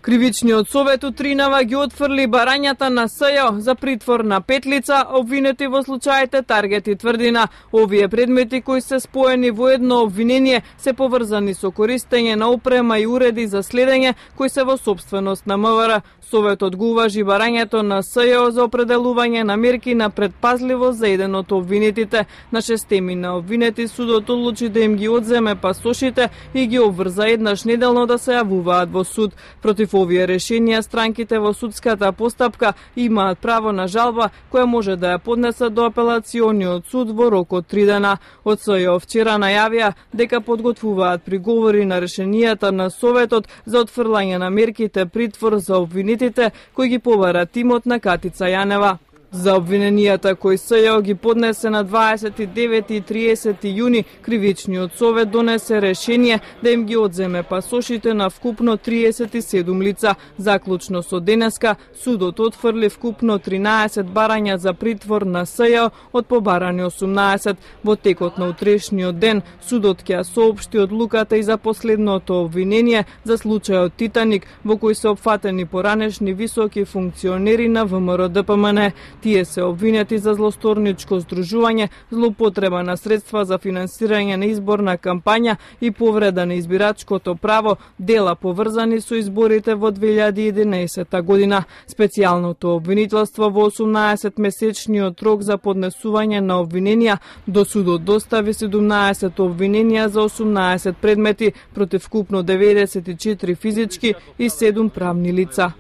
Кривичниот совет утринава ги отфрли барањата на СЈО за притвор на 5 лица обвинети во случаите Таргет и Тврдина. Овие предмети кои се споени во едно обвинение се поврзани со користење на опрема и уреди за следење кои се во сопственост на МВР. Советот го уважи барањето на СЈО за определување на мерки на предпазливост за еден од обвинетите. На 6 на обвинети судот одлучи да им ги одземе пасошите и ги обврза еднаш неделно да се јавуваат во суд. Против овие решенија странките во судската постапка имаат право на жалба која може да ја поднесат до апелациониот суд во рок од 3 дена. Од СЈО вчера најавија дека подготвуваат приговори на решенијата на Советот за отфрлање на мерките притвор за обвинетите кои ги побара тимот на Катица Јанева. За обвиненијата кои СЈО ги поднесе на 29 и 30 јуни, Кривичниот совет донесе решение да им ги одземе пасошите на вкупно 37 лица. Заклучно со денеска, судот отфрли вкупно 13 барања за притвор на СЈО од побарани 18. Во текот на утрешниот ден, судот ќе соопшти одлуката и за последното обвинение за случајот Титаник, во кој се опфатени поранешни високи функционери на ВМРО-ДПМН. Тие се обвинети за злосторничко здружување, злоупотреба на средства за финансирање на изборна кампања и повреда на избирачкото право, дела поврзани со изборите во 2011 година. Специјалното обвинителство во 18-месечниот рок за поднесување на обвиненија до судот достави 17 обвиненија за 18 предмети против вкупно 94 физички и 7 правни лица.